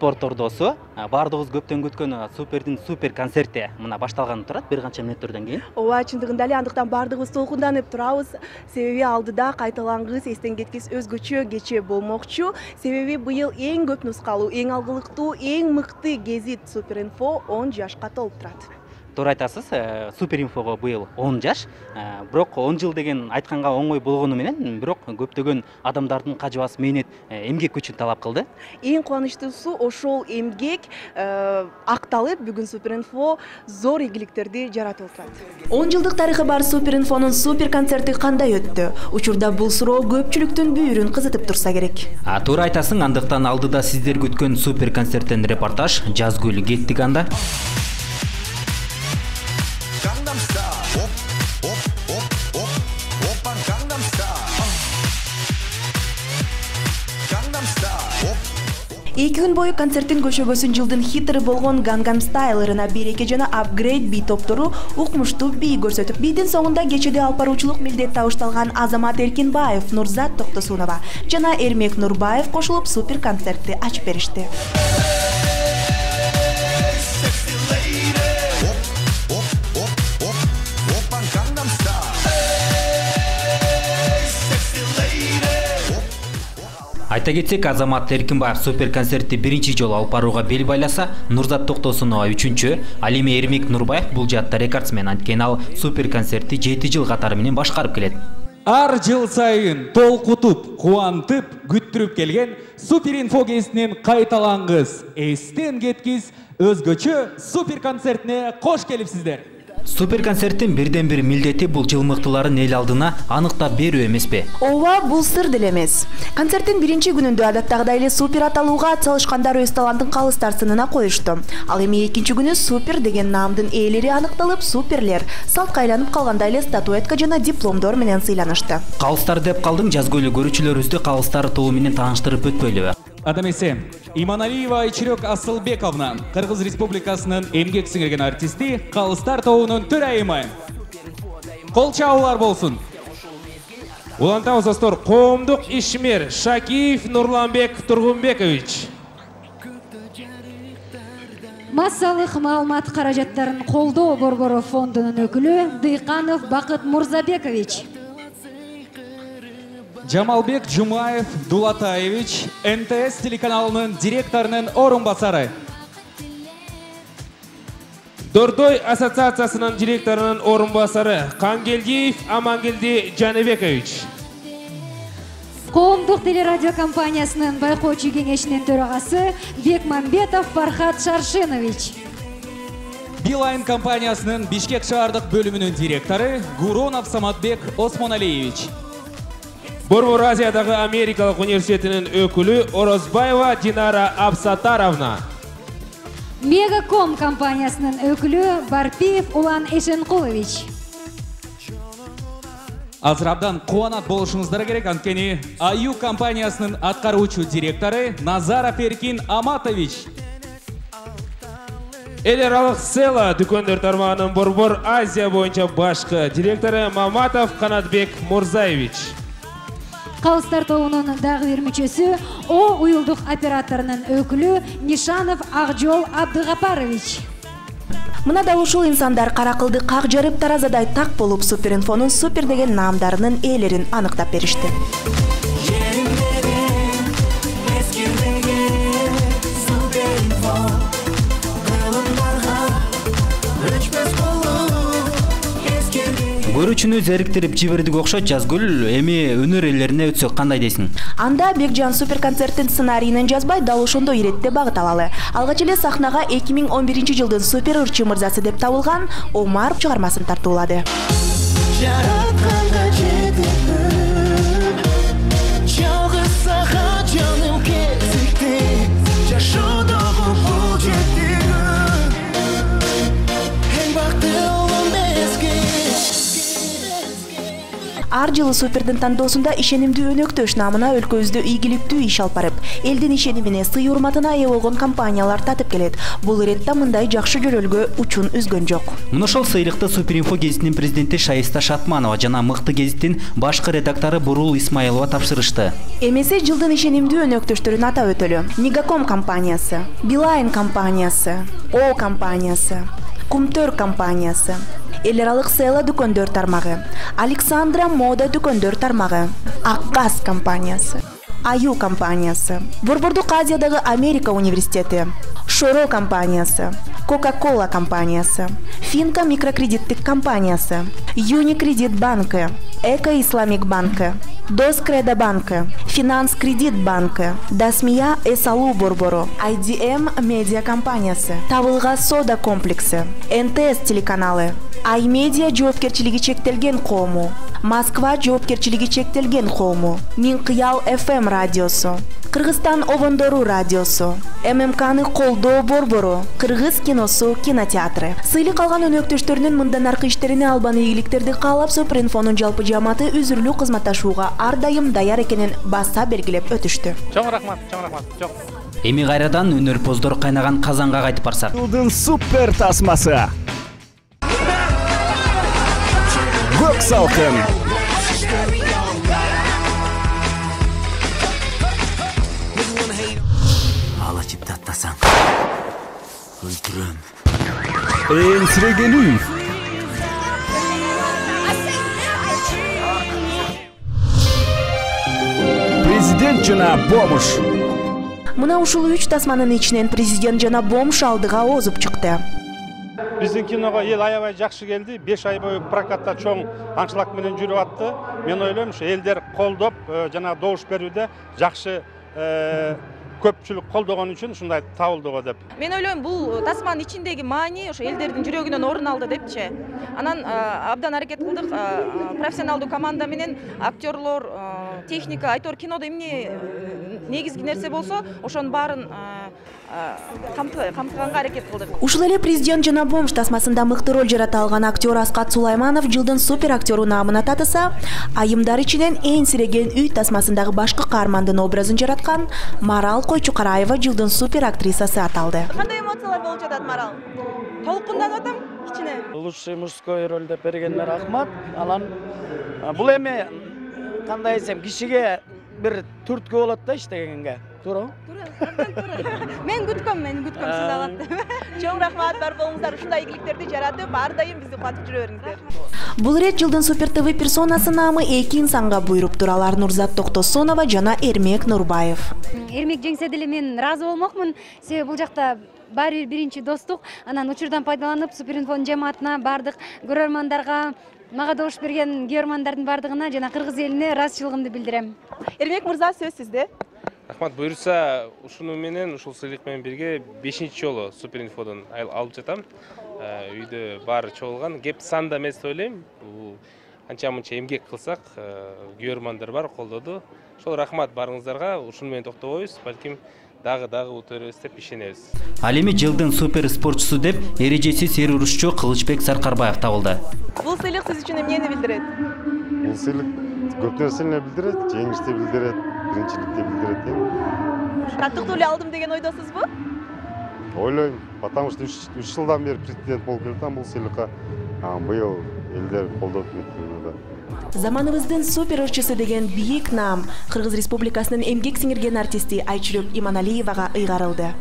спорт ордосу. Баардыгыбыз көптөн күткөн Супердин супер концерти мына башталганы турат бир канча мүнөттөрдөн кийин. Ооба, чындыгында эле андыктан баардыгыбыз толкунданып турабыз. Себеби алдыда кайталангыс, эстен кеткис өзгөчө кече болмокчу. Себеби быйыл эң көп нускалуу, эң алгылыктуу, эң мыкты гезит Суперинфо 10 жашка толуп турат. Туура айтасыз, Суперинфого быйыл 10 жаш. Бирок 10 жыл деген айтканга оңой болгону менен, бирок көптөгөн адамдардын кажыбас мээнет, эмгек күчүн талап кылды. Эң кубанычтуусу ошол эмгек акталып, бүгүн Суперинфо зор ийгиликтерди жаратып турат. 10 жылдык тарыхы бар Суперинфонун супер концерти кандай өттү? Учурда бул суроо көпчүлүктүн бүйүрүн кызытып турса керек. Туура айтасың, андыктан алдыда сиздер күткөн супер концерттен репортаж. Жазгүл кеттик анда. Эки күн бою концерттин көшөгөсүн жылдын хиттери болгон Gangnam Style ырына береке жана Upgrade би топтору укмуштуу бий көрсөтүп, бийдин соңунда кечеде алып баруучулук милдет табышталган Азамат Эркинбаев, Нурзат Токтосунова жана Эрмек Нурбаев кошулуп супер концертти ачып беришти. Айта кетсек, Азамат Эркинбаев супер концертти биринчи жолу алып барууга бел байласа, Нурзат Токтосунова үчүнчү, ал эми Эрмек Нурбаев бул жаатта рекордсмен. Анткени ал супер концертти 7 жыл катары менен башкарып келет. Ар жыл сайын толкутуп, кубантып, күттүрүп келген Суперинфо кезинин кайталангыс, эстен кеткис, өзгөчө супер концертине кош келипсиздер. Супер концерттин бирден бир милдети бул жылмыктууларын эл алдына аныктап берүү эмеспи? Ооба, бул сыр деле эмес. Концерттин биринчи күнүндө адаттагыдай эле супер аталууга атсалышкандар өз талантын калыстар сынына коюшту. Ал эми экинчи күнү супер деген наамдын ээлери аныкталып, суперлер салтка айланып калгандай эле статуэтка жана дипломдор менен сыйланышты. Калыстар деп калдың, Жазгүл, көрүүчүлөрүбүздү калыстар тобу менен тааныштырып өтпөйлүбү? Адам эсе, Иманалиева Айчирек Асылбековна, Кыргыз Республикасынын эмгек сиңирген артисти, калыстар тобунун төрайымы. Кол чабуулар болсун. Улантабыз достор, коомдук ишмер Шакиев Нурланбек Тургунбекович. Массалык маалымат каражаттарын колдоо борбору фондунун өкүлү Дыйканов Бакыт Мурзабекович. Жамалбек Жумаев Дулатаевич, НТС телеканалынын директорунун орун басары. Дордой ассоциациясынын директорунун орун басары Кангелдиев Амангелди Жаныбекович. Коомдук телерадио компаниясынын байкоочу кеңешинин төрагасы Бекмамбетов Фархат Шаршенович. Билайн компаниясынын Бишкек шаардык бөлүмүнүн директору Гуронов Саматбек Осмоналиевич. Борбор Азиядагы Америкалык университетинин өкүлү Орозбаева Динара Абсатаровна. Мегаком компаниясынын өкүлү Барпиев Улан Эшенкулович. Азыр абдан кубанат болушуңуздар керек, анткени Аю компаниясынын аткаруучу директору Назаров Эркин Аматович. Эл аралык Села дүкөндөр тармагынын Борбор Азия боюнча башкы директору Маматов Канатбек Мурзаевич. Калыстар тобунун дагы бир мүчөсү О уюлдук операторунун өкүлү Нишанов Акжол Абдыгапарович. Мына да ушул инсандар кара кылды как жарып таразадай так болуп Суперинфонун супер деген наамдарынын ээлерин аныктап беришти. Көрүүчүнү зериктирип жибердик окшойт. Жазгүл, эми өнөр ээлерине өтсөк кандай дейсиң? Анда Бекжан супер концерттин сценарийин жазбай, дал ошондой иретте багыт алалы. Алгач эле сахнага 2011 жылдын супер ырчы мырзасы деп табылган Омар чыгармасын тартуулады. ар жылы Супердин тандоосунда ишенимдүү өнөктөш намына өлкөбүздө ийгиликтүү иш алып барып, элдин ишенимине, сый урматына ээ болгон компаниялар татып келет. Бул иретте мындай жакшы жөрөлгө учун үзгөн жок. Мына ошол сыйлыкты Суперинфо гезитинин президенти Шайиста Шатманова жана Мыкты гезиттин башкы редактору Бурул Исмаилова тапшырышты. Эмесе жылдын ишенимдүү өнөктөштөрүн атап өтөлү. Мегаком компаниясы, Билайн компаниясы, О компаниясы, Кумтөр компаниясы, эл аралык Села дүкөндөр тармагы, Александра мода дүкөндөр тармагы, Акгаз компаниясы, Аю компаниясы, Борбордук Азиядагы Америка университети, Шоро компаниясы, Кока-Кола компаниясы, Финка микрокредиттик компаниясы, Юникредит банкы, Эко Исламик банкы, Доскредо банкы, Финанс Кредит банкы, Дасмия Эсалу борбору, IDM медиа компаниясы, Табылга сода комплекси, НТС телеканалы, Аймедиа жоопкерчилиги чектелген коому, Москва жоопкерчилиги чектелген коому, Минкыял FM радиосу, Кыргызстан обондору радиосу, ММКны колдоо борбору, Кыргыз киносу кинотеатры. Сыйлык алган өнөктөштөрүнүн мындан аркы иштерине албан ийгиликтерди каалап, Суперинфонун жалпы жааматы үзүрлүү кызматташууга ар дайым даяр экенин баса белгилеп өтүштү. Чоң рахмат, чоң. Эми кайрадан өнөрпоздор кайнаган казанга кайтып барсак. Жылдын супер тасмасы. Көк салкын. Алачып таттасаң, өлтүрөм. Энсирегенүү. Президент жана бомуш. Мына ушул 3 тасманын ичинен президент жана бомуш алдыга озуп чыкты. Биздин киного эл аябай жакшы келди. 5 ай бою прокатта чоң анчлаг менен жүрүп атты. Мен ойлойм, ушу элдер колдоп, жана добуш берүүдө жакшы көпчүлүк колдогон үчүн ушундай табылды го деп. Мен ойлойм, бул тасманын ичиндеги маани ошо элдердин жүрөгүнөн орун алды депчи. Анан абдан аракет кылдык, профессионалдуу команда менен актерлор, техника, айтор кинодо эмне негизги нерсе болсо, ошонун баарын камтыганга аракет кылдык. Ушул эле президент жана бомуш тасмасында мыкты роль жарата алган актер Аскат Сулайманов жылдын супер актеру наамына татыса, айымдар ичинен энсиреген үй тасмасындагы башкы каармандын образын жараткан Марал Койчукараева жылдын супер актрисасы аталды. Кандай эмоциялар болуп жатат, Марал? Толкунданып атам кичине. Лучший мужской роль деп бергенler рахмат. Анан бул эми кандай десем, кишиге бир түрткү болот да иштегенге. Туура? Мен күткөм сиз алат. Чоң рахмат, бар болуңуздар, ушундай ийгиликтерди жаратып, ар дайым бизди кубатып жүрө бериңиздер. Бул ирет жылдын супер ТВ персонасы наамы 2 инсанга буйруп тур. Алар Нурзат Токтосонова жана Эрмек Нурбаев. Эрмек жеңсе деле мен ыраазы болмокмун. Себеби бул жакта баары бир биринчи достук, анан учурдан пайдаланып Суперинфонун жааматына, бардык көрөрмандарга, мага добуш берген көрөрмандардын бардыгына жана кыргыз элине ыраазычылыгымды билдирем. Эрмек мырза, сөз сизде. Рахмат, буюрса, ушуну менен, ушул сыйлык менен бирге 5-чи жолу Суперинфодон алып жатам. Үйдө баары чогулган, кеп санда эмес деп ойлойм. Бул анча-мынча эмгек кылсак, көрөрмандар бар, колдоду. Ошол рахмат барыңыздарга, ушуну менен токтобойбуз, балким дагы өтөрөбүз деп ишенебиз. Ал эми жылдын супер спортчусу деп эрежесиз эр урушчу Кылычбек Саркарбаев табылды. Бул сыйлык сиз үчүн эмнени билдирет? Бул сыйлык көп нерсени билдирет, жеңишти билдирет, биринчиликти билдирет. Таттыктуу эле алдым деген ойдосузбу? Ойлойм, потому что 3 жылдан бери президент болуп келатам бул сыйлыкка. Быйыл элдер колдоп кетти. Заманыбыздын супер ырчысы деген бийик наам Кыргыз Республикасынын эмгек сиңирген артисти Айчүрөк Иманалиевага ыйгарылды.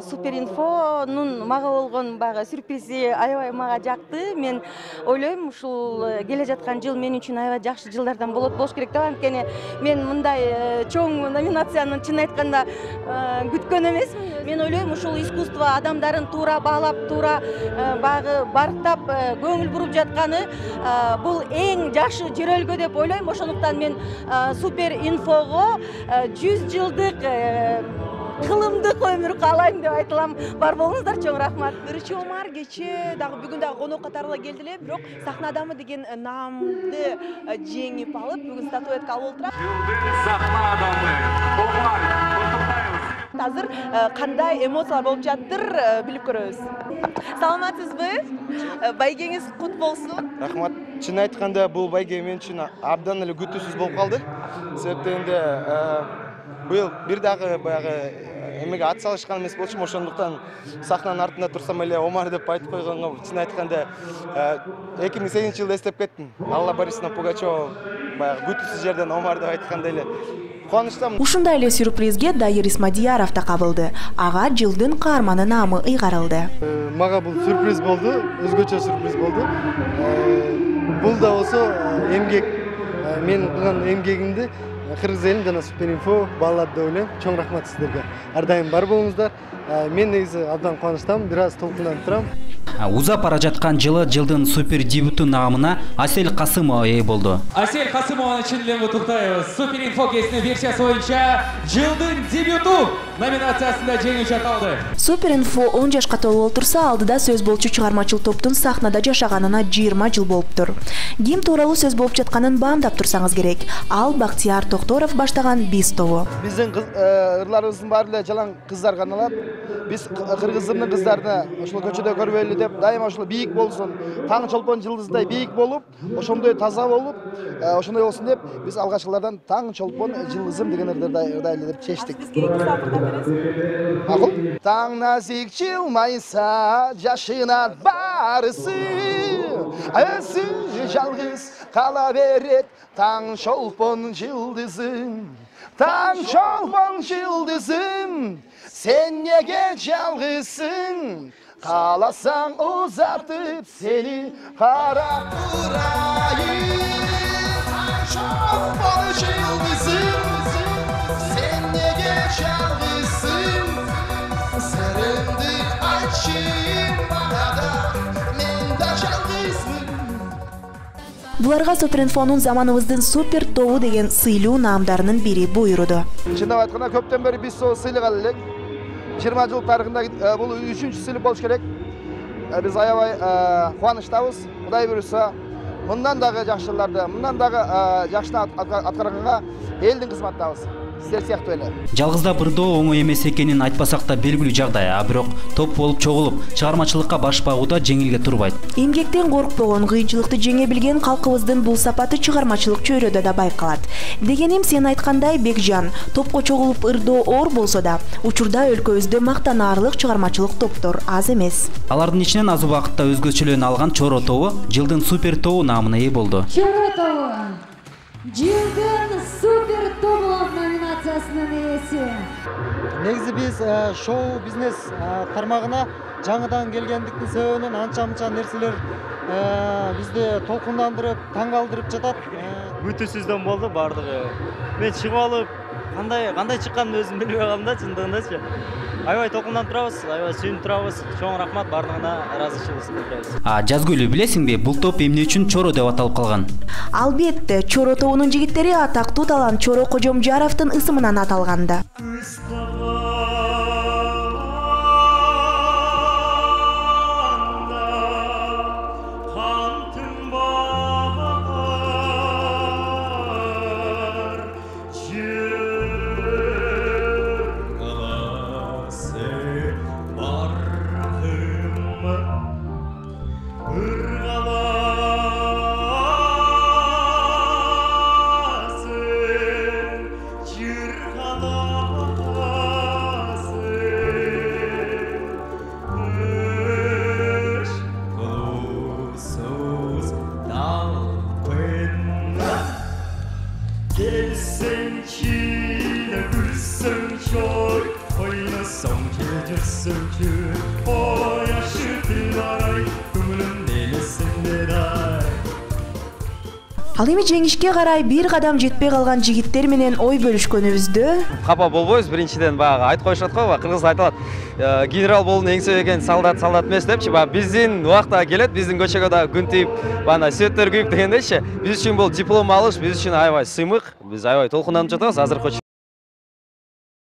Суперинфонун мага болгон баягы сюрпризи аябай мага жакты. Мен ойлойм, ушул келе жаткан жыл мен үчүн аябай жакшы жылдардан болуш керек деп. Анткени мен мындай чоң номинацияны чын айтканда күткөн эмесмин. Мен ойлойм, ушул искусство адамдарын туура баалап, туура баягы барктап көңүл буруп жатканы бул эң жакшы жөрөлгө деп ойлойм. Ошондуктан мен Суперинфого 100 жылдык кылымдык өмүр каалайм деп айтылам. Бар болуңуздар, чоң рахмат. Биринчи Омар кечээ дагы бүгүн дагы конок катары келди эле, бирок сахна адамы деген наамды жеңип алып, бүгүн статуэтка алып отурат. Жылдын сахна адамы Омар Кутукбаев. Азыр кандай эмоциялар болуп жатыр, билип көрөбүз. Саламатсызбы? Байгеңиз кут болсун. Рахмат. Чын айтканда бул байге мен үчүн абдан эле күтүүсүз болуп калды. Себептен быйыл бир дагы баягы эмеге ат салышкан эмес болчумун. Ошондуктан сахнанын артында турсам эле Омар деп айтып койгонго чын айтканда 2008-жылды эстеп кеттим. Алла Борисовна Пугачева баягы күтүүсүз жерден Омар деп айткандай эле кубанычтамын. Ушундай эле сюрпризге Дайыр Исмадияров да кабылды. Ага жылдын каарманы наамы ыйгарылды. Мага бул сюрприз болду, өзгөчө сюрприз болду. Бул да болсо эмгек, мен кылган эмгегимди Кыргыз элин жана Суперинфо баалады деп ойлойм. Чоң рахмат сиздерге. Ар дайым бар болуңуздар. Мен негизи абдан кубанычтамын, бир аз толкунданып турам. Узап бара жаткан жылдын супер дебюту наамына Асель Касымова ээ болду. Асель Касымованы чын эле куттуктайбыз. Суперинфо кезинин версиясы боюнча жылдын дебюту номинациясында жеңүүчү аталды. Суперинфо 10 жашка толуп отурса, алдыда сөз болчу чыгармачыл топтун сахнада жашаганына 20 жыл болуптур. Ким тууралуу сөз болуп жатканын баамдап турсаңыз керек. Ал Бактияр Токторов баштаган Биз тобу. Биздин ырларыбыздын баары эле жалаң кыздар каналат. Биз кыргыздын кыздарына ошол көчөдө көрбөйлү деп дайыма ошол бийик болсун, таң чолпон жылдыздай бийик болуп, ошондой таза болуп, ошондой болсун деп биз алгачкылардан таң чолпон жылдызым деген ырдайлы деп чечтик. Макул? Таң назик жылмайса, жашынат барысы, өзү жалгыз кала берет таң чолпон жылдызым. Таң чолпон жылдызым, сен неге жалгызсың? Каласаң узатып сени карап турайын. Таң чолпон жылдызым, сен неге жалгызсың? Сырыңды айтчы мага да, мен да жалгызмын. Буларга Суперинфонун заманыбыздын супер тобу деген сыйлуу наамдарынын бири буйруду. Чындап айтканда көптөн бери биз сол сыйлыгалы элек. 20 жыл тарыхында бул 3-чү сыйлык болуш керек. Биз аябай кубанычтабыз. Кудай буйруса, мындан дагы жакшыларды, мындан дагы жакшы аткарганга элдин кызматтабыз. Сиздер сыяктуу эле. Жалгызда бирдөө оңой эмес экенин айтпасак да белгилүү жагдай, бирок топ болуп чогулуп, чыгармачылыкка баш багуу да жеңилге турбайт. Эмгектен коркпогон, кыйынчылыкты жеңе билген калкыбыздын бул сапаты чыгармачылык чөйрөдө да байкалат. Дегеним, сен айткандай, Бекжан, топко чогулуп ырдоо оор болсо да, учурда өлкөбүздө мактанаарлык чыгармачылык топтор аз эмес. Алардын ичинен аз убакытта өзгөчөлүгүн алган Чоро тобу жылдын супер тобу наамына ээ болду. Чоро тобу жылдын супер тобу номинациясынын ээси. Негизи биз шоу бизнес тармагына жаңыдан келгендиктин себебинен анча-мынча нерселер бизди толкундандырып, таң калтырып жатат. Күтүүсүздөн болду бардыгы. Мен чыгып алып, кандай чыкканын өзүм билбей калдым да, чындыгындачы. Аябай толкунданып турабыз, аябай сүйүнүп турабыз. Чоң рахмат, бардыгына ыраазычылык билдиребиз. Жазгүл, билесиңби, бул топ эмне үчүн Чоро деп аталып калган? Албетте, Чоро тобунун жигиттери атактуу талант Чоро Кожомжаровдун ысымынан аталганда. өссүнчү ой ашытын арай көңүлүм элесиңдер ай. Ал эми жеңишке карай бир кадам жетпей калган жигиттер менен ой бөлүшкөнүбүздө капа болбойбуз. Биринчиден баягы айтып коюшат го, кыргызда айтылат, генерал болуунун эң себеби солдат эмес депчи. Биздин убакта келет, биздин көчөгө да күн тийип, бана светтер күйүп дегендейчи. Биз үчүн бул диплом алыш биз үчүн аябай сыймык. Биз аябай толкунданып жатабыз азыркы